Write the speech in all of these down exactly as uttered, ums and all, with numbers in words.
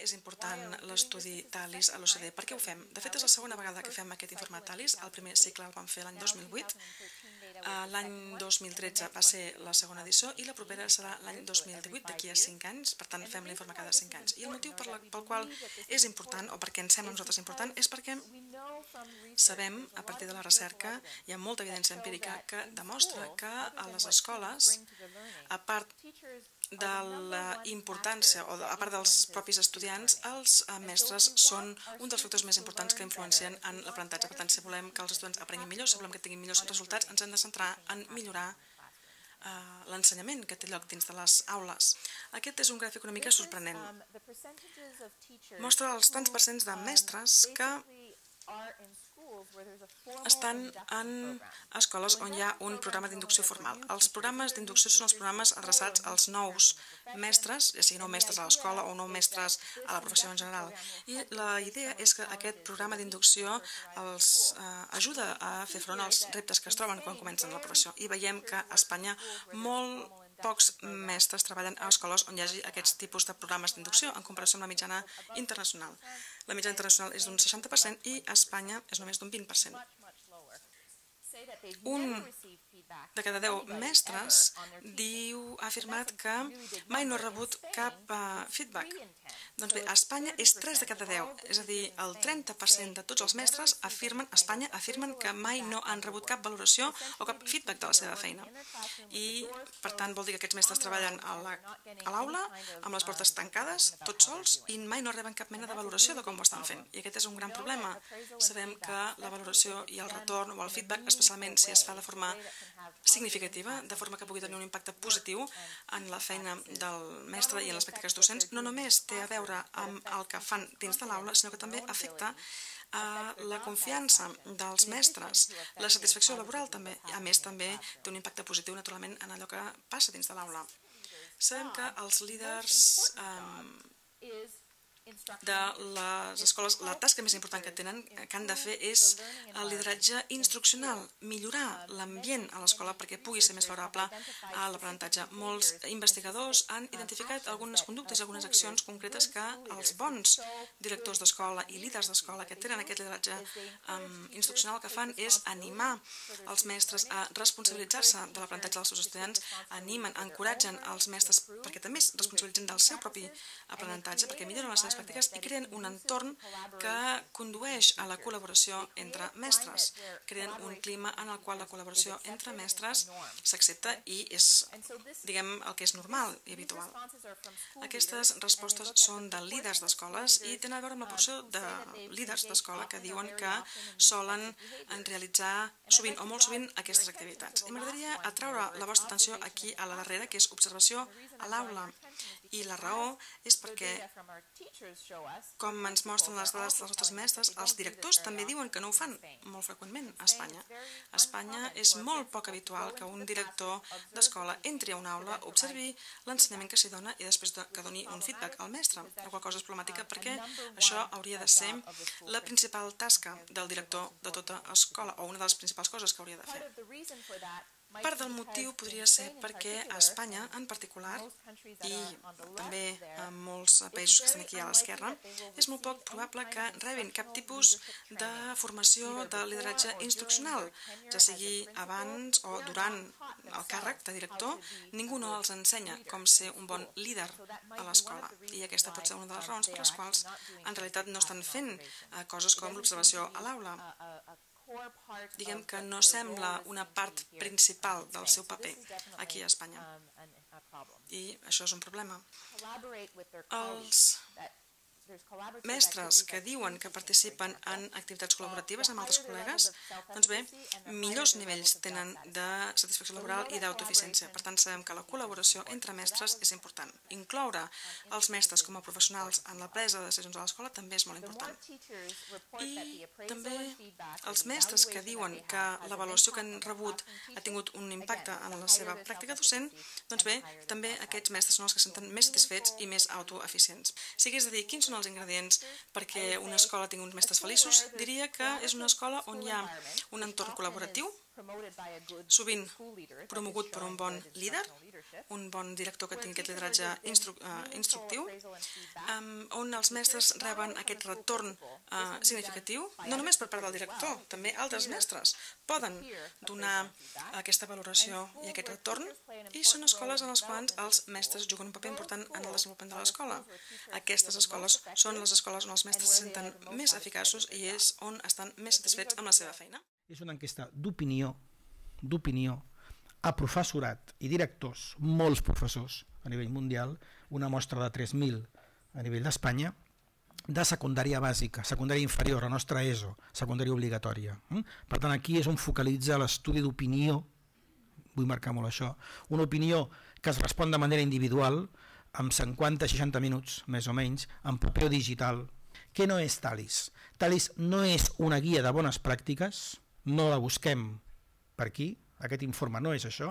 és important l'estudi TALIS a l'O C D? Per què ho fem? De fet, és la segona vegada que fem aquest informe TALIS. El primer cicle el vam fer l'any dos mil vuit, l'any dos mil tretze va ser la segona edició i la propera serà l'any dos mil divuit, d'aquí a cinc anys. Per tant, fem l'informe cada cinc anys. I el motiu pel qual és important, o perquè ens sembla a nosaltres important, és perquè sabem, a partir de la recerca, hi ha molta evidència empírica que demostra que a les escoles, a part de la importància, o a part dels propis estudiants, els mestres són un dels factors més importants que influencien en l'aprenentatge. Per tant, si volem que els estudiants aprenguin millor, si volem que tinguin millors resultats, ens hem de centrar en millorar l'ensenyament que té lloc dins de les aules. Aquest és un gràfic una mica sorprenent. Mostra els tants percents de mestres que estan en escoles on hi ha un programa d'inducció formal. Els programes d'inducció són els programes adreçats als nous mestres, ja sigui nous mestres a l'escola o nous mestres a la professió en general. I la idea és que aquest programa d'inducció els ajuda a fer front als reptes que es troben quan comencen la professió. I veiem que a Espanya molt pocs mestres treballen a escoles on hi hagi aquests tipus de programes d'inducció en comparació amb la mitjana internacional. La mitjana internacional és d'un seixanta per cent i a Espanya és només d'un vint per cent. Un de cada deu mestres diu, ha afirmat que mai no ha rebut cap feedback. Doncs bé, a Espanya és tres de cada deu, és a dir, el trenta per cent de tots els mestres afirmen, a Espanya afirmen que mai no han rebut cap valoració o cap feedback de la seva feina. I, per tant, vol dir que aquests mestres treballen a l'aula, amb les portes tancades, tots sols, i mai no reben cap mena de valoració de com ho estan fent. I aquest és un gran problema. Sabem que la valoració i el retorn o el feedback, especialment si es fa de forma significativa, de forma que pugui tenir un impacte positiu en la feina del mestre i en les pràctiques docents, no només té a veure amb el que fan dins de l'aula, sinó que també afecta la confiança dels mestres, la satisfacció laboral també, i a més també té un impacte positiu naturalment en allò que passa dins de l'aula. Sabem que els líders de les escoles, la tasca més important que tenen, que han de fer, és el lideratge instruccional, millorar l'ambient a l'escola perquè pugui ser més favorable a l'aprenentatge. Molts investigadors han identificat algunes conductes i algunes accions concretes que els bons directors d'escola i líders d'escola que tenen aquest lideratge instruccional que fan és animar els mestres a responsabilitzar-se de l'aprenentatge dels seus estudiants, animen, encoratgen els mestres perquè també es responsabilitzen del seu propi aprenentatge, perquè milloren les seves pràctiques i creen un entorn que condueix a la col·laboració entre mestres. Creen un clima en el qual la col·laboració entre mestres s'accepta i és, diguem, el que és normal i habitual. Aquestes respostes són de líders d'escoles i tenen a veure amb la porció de líders d'escola que diuen que solen realitzar sovint o molt sovint aquestes activitats. I m'agradaria atraure la vostra atenció aquí a la darrera, que és observació a l'aula. I la raó és perquè, com ens mostren les dades dels nostres mestres, els directors també diuen que no ho fan molt freqüentment a Espanya. A Espanya és molt poc habitual que un director d'escola entri a una aula, observi l'ensenyament que s'hi dona i després que doni un feedback al mestre. La qual cosa és problemàtica perquè això hauria de ser la principal tasca del director de tota escola, o una de les principals coses que hauria de fer. Part del motiu podria ser perquè a Espanya, en particular, i també en molts països que estan aquí a l'esquerra, és molt poc probable que rebin cap tipus de formació de lideratge instruccional, ja sigui abans o durant el càrrec de director, ningú no els ensenya com ser un bon líder a l'escola. I aquesta pot ser una de les raons per les quals en realitat no estan fent coses com l'observació a l'aula. Diguem que no sembla una part principal del seu paper aquí a Espanya. I això és un problema. Els mestres que diuen que participen en activitats col·laboratives amb altres col·legues, doncs bé, millors nivells tenen de satisfacció laboral i d'autoeficiència. Per tant, sabem que la col·laboració entre mestres és important. Incloure els mestres com a professionals en la presa de decisions a l'escola també és molt important. I també els mestres que diuen que l'avaluació que han rebut ha tingut un impacte en la seva pràctica docent, doncs bé, també aquests mestres són els que se senten més satisfets i més autoeficients. Si hagués de dir quins són els ingredients perquè una escola tingui uns mestres feliços, diria que és una escola on hi ha un entorn col·laboratiu, sovint promogut per un bon líder, un bon director que tingui aquest lideratge instru uh, instructiu, um, on els mestres reben aquest retorn uh, significatiu, no només per part del director, també altres mestres poden donar aquesta valoració i aquest retorn, i són escoles en les quals els mestres juguen un paper important en el desenvolupament de l'escola. Aquestes escoles són les escoles on els mestres se senten més eficaços i és on estan més satisfets amb la seva feina. És una enquesta d'opinió, d'opinió a professorat i directors, molts professors a nivell mundial, una mostra de tres mil a nivell d'Espanya, de secundària bàsica, secundària inferior, la nostra E S O, secundària obligatòria. Per tant, aquí és on focalitza l'estudi d'opinió, vull marcar molt això, una opinió que es respon de manera individual, amb cinquanta a seixanta minuts, més o menys, en paper digital. Què no és Talis? Talis no és una guia de bones pràctiques, no la busquem per aquí, aquest informe no és això.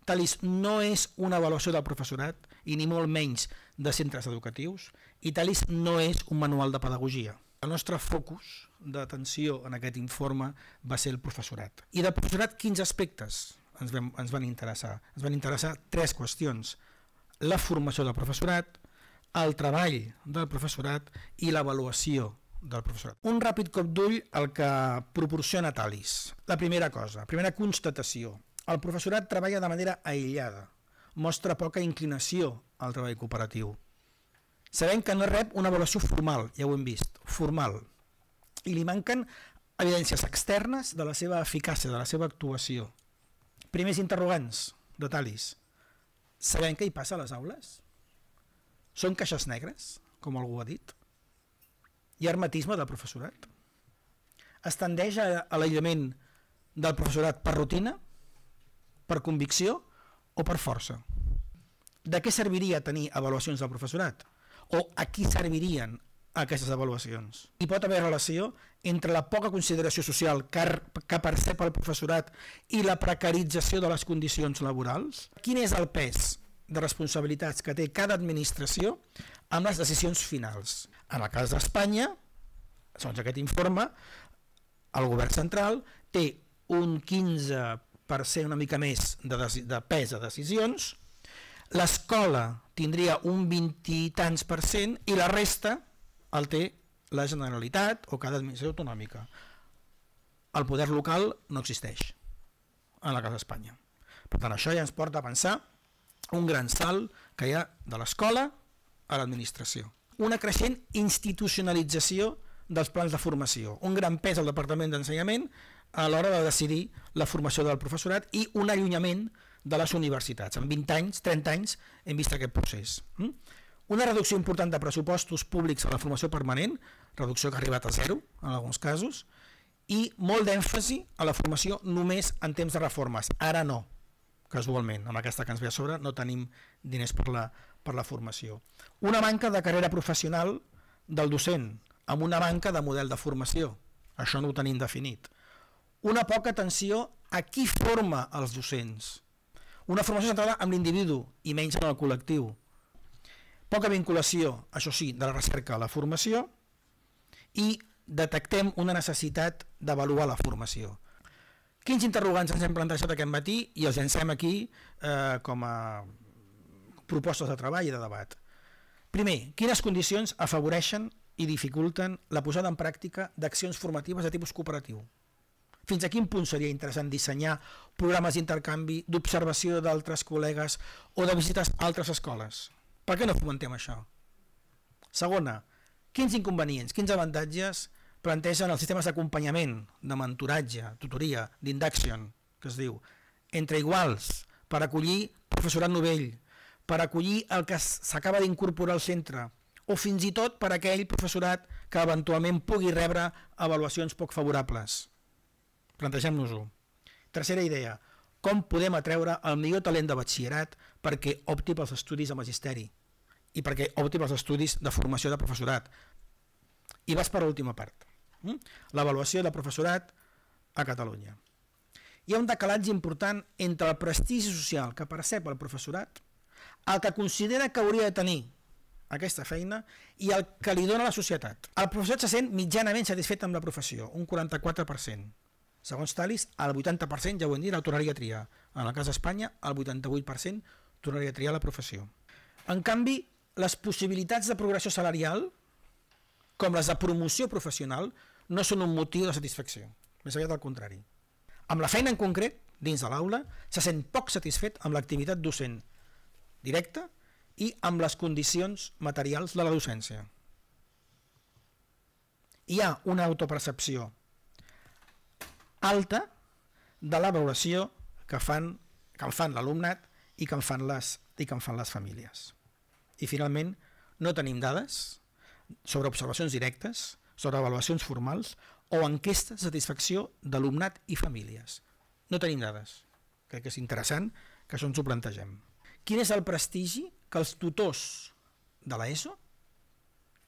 Talis no és una avaluació del professorat i ni molt menys de centres educatius, i Talis no és un manual de pedagogia. El nostre focus d'atenció en aquest informe va ser el professorat. I del professorat, quins aspectes ens van, ens van interessar? Ens van interessar tres qüestions: la formació del professorat, el treball del professorat i l'avaluació del professorat. Un ràpid cop d'ull al que proporciona Talis. La primera cosa, primera constatació, el professorat treballa de manera aïllada, mostra poca inclinació al treball cooperatiu. Sabem que no rep una avaluació formal, ja ho hem vist, formal, i li manquen evidències externes de la seva eficàcia, de la seva actuació. Primers interrogants de Talis. Sabem què hi passa a les aules? Són caixes negres, com algú ha dit? Hi ha hermetisme del professorat? Es tendeix a l'aïllament del professorat per rutina, per convicció o per força? De què serviria tenir avaluacions del professorat? O a qui servirien aquestes avaluacions? Hi pot haver relació entre la poca consideració social que percep el professorat i la precarització de les condicions laborals? Quin és el pes de responsabilitats que té cada administració amb les decisions finals? En el cas d'Espanya, segons aquest informe, el govern central té un quinze per cent, una mica més, de, de pes de decisions, l'escola tindria un vint i tants per cent i la resta el té la Generalitat o cada administració autonòmica. El poder local no existeix en el cas d'Espanya. Per tant, això ja ens porta a pensar un gran salt que hi ha de l'escola a l'administració. Una creixent institucionalització dels plans de formació, un gran pes al Departament d'Ensenyament a l'hora de decidir la formació del professorat i un allunyament de les universitats. En vint anys, trenta anys, hem vist aquest procés. Una reducció important de pressupostos públics a la formació permanent, reducció que ha arribat a zero en alguns casos, i molt d'èmfasi a la formació només en temps de reformes. Ara no, casualment, amb aquesta que ens ve a sobre no tenim diners per la, per la formació. Una manca de carrera professional del docent, amb una manca de model de formació. Això no ho tenim definit. Una poca atenció a qui forma els docents. Una formació centrada en l'individu i menys en el col·lectiu. Poca vinculació, això sí, de la recerca a la formació, i detectem una necessitat d'avaluar la formació. Quins interrogants ens hem plantejat aquest matí i els llancem aquí eh, com a propostes de treball i de debat. Primer, quines condicions afavoreixen i dificulten la posada en pràctica d'accions formatives de tipus cooperatiu? Fins a quin punt seria interessant dissenyar programes d'intercanvi, d'observació d'altres col·legues o de visites a altres escoles? Per què no fomentem això? Segona, quins inconvenients, quins avantatges plantegen els sistemes d'acompanyament, de mentoratge, tutoria, d'induction, que es diu, entre iguals, per acollir professorat novell, per acollir el que s'acaba d'incorporar al centre, o fins i tot per aquell professorat que eventualment pugui rebre avaluacions poc favorables. Plantegem-nos-ho. Tercera idea, com podem atreure el millor talent de batxillerat perquè opti pels estudis de magisteri i perquè opti pels estudis de formació de professorat. I vas per l'última part, l'avaluació de professorat a Catalunya. Hi ha un decalatge important entre el prestigi social que percep el professorat, el que considera que hauria de tenir aquesta feina i el que li dona la societat. El professorat se sent mitjanament satisfet amb la professió, un quaranta-quatre per cent. Segons Thalys, el vuitanta per cent, ja ho hem dit, el tornaria a triar. En el cas d'Espanya, el vuitanta-vuit per cent tornaria a triar la professió. En canvi, les possibilitats de progressió salarial, com les de promoció professional, no són un motiu de satisfacció. Més aviat al contrari. Amb la feina en concret, dins de l'aula, se sent poc satisfet amb l'activitat docent directa i amb les condicions materials de la docència. Hi ha una autopercepció alta de la valoració que fan, que en fan l'alumnat i que en fan les, i que en fan les famílies. I finalment, no tenim dades sobre observacions directes, sobre avaluacions formals o enquestes de satisfacció d'alumnat i famílies. No tenim dades. Crec que és interessant que això ens ho plantegem. Quin és el prestigi que els tutors de l'ESO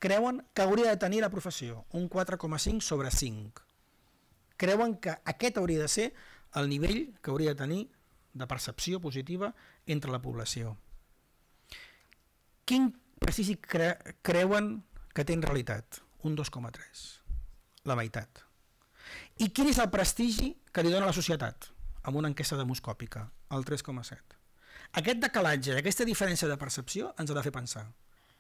creuen que hauria de tenir la professió? Un quatre coma cinc sobre cinc. Creuen que aquest hauria de ser el nivell que hauria de tenir de percepció positiva entre la població. Quin prestigi cre creuen que té en realitat? Un dos coma tres. La meitat. I quin és el prestigi que li dona la societat? Amb una enquesta demoscòpica, el tres coma set. Aquest decalatge, aquesta diferència de percepció ens ha de fer pensar.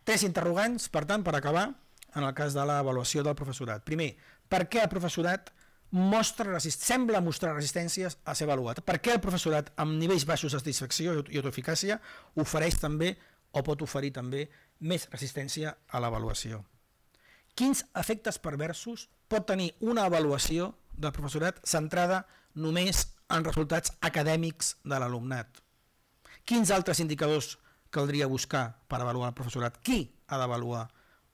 Tres interrogants, per tant, per acabar, en el cas de l'avaluació del professorat. Primer, per què el professorat mostra resist... sembla mostrar resistències a ser avaluat? Per què el professorat amb nivells baixos de satisfacció i autoeficàcia ofereix també o pot oferir també més resistència a l'avaluació? Quins efectes perversos pot tenir una avaluació del professorat centrada només en resultats acadèmics de l'alumnat? Quins altres indicadors caldria buscar per avaluar el professorat? Qui ha d'avaluar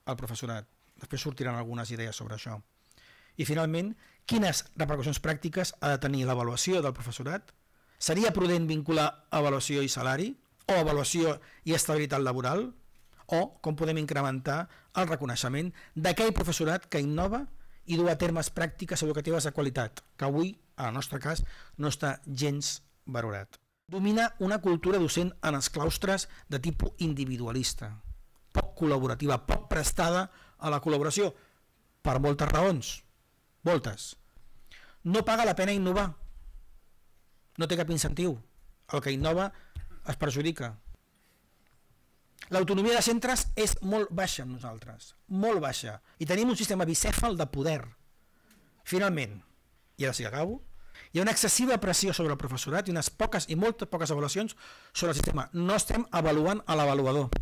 el professorat? Després sortiran algunes idees sobre això. I finalment, quines repercussions pràctiques ha de tenir l'avaluació del professorat? Seria prudent vincular avaluació i salari? O avaluació i estabilitat laboral? O com podem incrementar el reconeixement d'aquell professorat que innova i du a termes pràctiques educatives de qualitat, que avui, en el nostre cas, no està gens valorat. Domina una cultura docent en els claustres de tipus individualista, poc col·laborativa, poc prestada a la col·laboració, per moltes raons, moltes. No paga la pena innovar, no té cap incentiu, el que innova es perjudica. L'autonomia de centres és molt baixa amb nosaltres, molt baixa, i tenim un sistema bicèfal de poder. Finalment, i ara sí que acabo, hi ha una excessiva pressió sobre el professorat i unes poques i moltes poques avaluacions sobre el sistema. No estem avaluant a l'avaluador,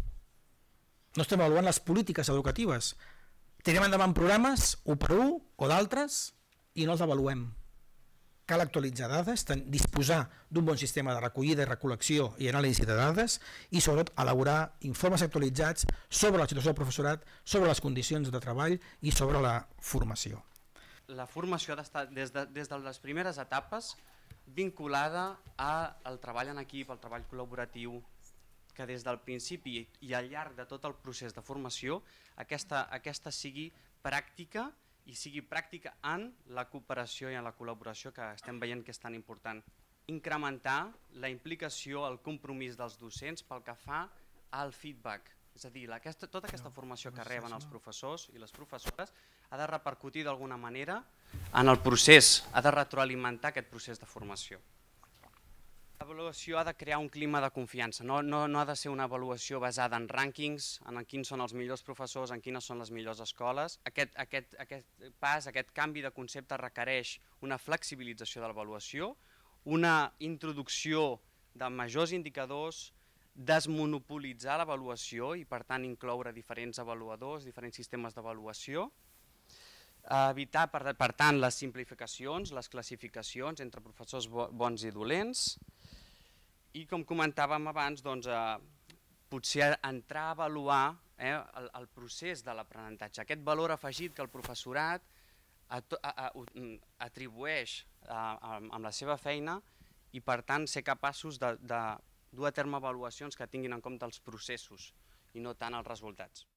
no estem avaluant les polítiques educatives. Tirem endavant programes, un per un o d'altres, i no els avaluem. Cal actualitzar dades, disposar d'un bon sistema de recollida i recol·lecció i anàlisi de dades i sobretot elaborar informes actualitzats sobre la situació del professorat, sobre les condicions de treball i sobre la formació. La formació ha d'estar des de, des de les primeres etapes vinculada al treball en equip, al treball col·laboratiu, que des del principi i al llarg de tot el procés de formació aquesta, aquesta sigui pràctica i sigui pràctica en la cooperació i en la col·laboració que estem veient que és tan important. Incrementar la implicació, el compromís dels docents pel que fa al feedback. És a dir, aquesta, tota aquesta formació que reben els professors i les professores ha de repercutir d'alguna manera en el procés, ha de retroalimentar aquest procés de formació. L'avaluació ha de crear un clima de confiança, no, no, no ha de ser una avaluació basada en rànquings, en quins són els millors professors, en quines són les millors escoles. Aquest, aquest, aquest pas, aquest canvi de concepte requereix una flexibilització de l'avaluació, una introducció de majors indicadors, desmonopolitzar l'avaluació i per tant incloure diferents avaluadors, diferents sistemes d'avaluació, evitar per, per tant les simplificacions, les classificacions entre professors bons i dolents i com comentàvem abans, doncs, eh, potser entrar a avaluar eh, el, el procés de l'aprenentatge, aquest valor afegit que el professorat a, a, a, atribueix a, a, amb la seva feina i per tant ser capaços de, de dur a terme avaluacions que tinguin en compte els processos i no tant els resultats.